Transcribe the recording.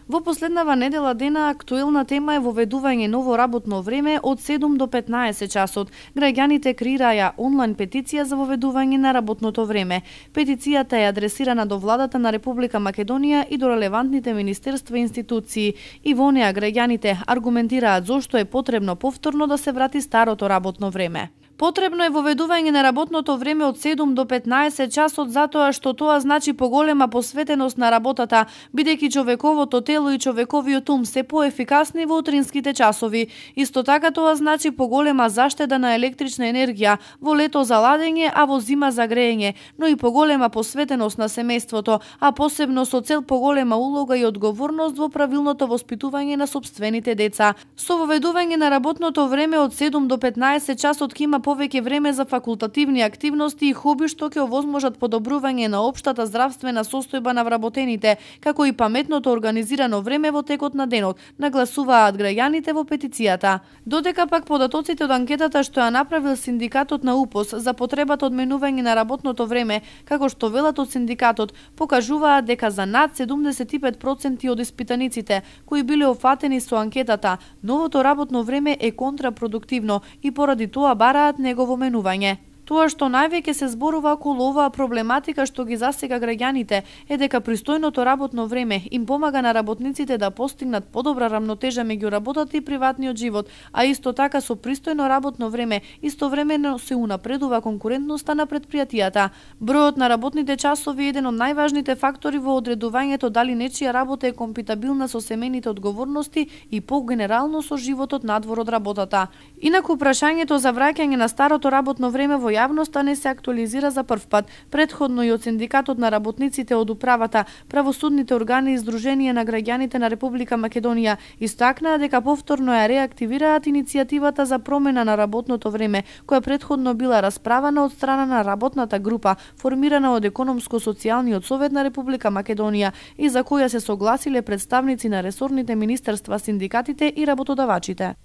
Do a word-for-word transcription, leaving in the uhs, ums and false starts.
Во последнава недела дена актуелна тема е воведување ново работно време од седум до петнаесет часот. Граѓаните креираја онлайн петиција за воведување на работното време. Петицијата е адресирана до владата на Република Македонија и до релевантните министерства и институции. И во неа граѓаните аргументираат зошто е потребно повторно да се врати старото работно време. Потребно е воведување на работното време од седум до петнаесет часот затоа што тоа значи поголема посветеност на работата, бидејќи човековото тело и човековиот ум се поефикасни во утринските часови. Исто така тоа значи поголема заштеда на електрична енергија во лето за ладење, а во зима за греење, но и поголема посветеност на семејството, а посебно со цел поголема улога и одговорност во правилното воспитување на сопствените деца. Со воведување на работното време од седум до петнаесет часот ќе има повеќе време за факултативни активности и хоби што ќе овозможат подобрување на општата здравствена состојба на вработените, како и паметното организирано време во текот на денот, нагласуваат граѓаните во петицијата. Додека пак податоците од анкетата што ја направил синдикатот на УПОС за потребата од менување на работното време, како што велат од синдикатот, покажуваат дека за над седумдесет и пет проценти од испитаниците кои биле офатени со анкетата, новото работно време е контрапродуктивно и поради тоа бараат негово менување. Тоа што највеќе се зборува околу оваа проблематика што ги засега граѓаните е дека пристојното работно време им помага на работниците да постигнат подобра рамнотежа меѓу работата и приватниот живот, а исто така со пристојно работно време истовремено се унапредува конкурентноста на предпријатијата. Бројот на работните часови е еден од најважните фактори во одредувањето дали нечија работа е компатибилна со семејните одговорности и по-генерално со животот надвор од работата. Инаку прашањето за враќање на старото работно време во јавноста не се актуализира за прв пат. Предходно и од синдикатот на работниците од управата, правосудните органи и Сдружение на граѓаните на Република Македонија истакнаа дека повторно ја реактивираат иницијативата за промена на работното време, која предходно била расправана од страна на работната група, формирана од Економско-социјалниот совет на Република Македонија и за која се согласиле представници на ресорните министерства, синдикатите и работодавачите.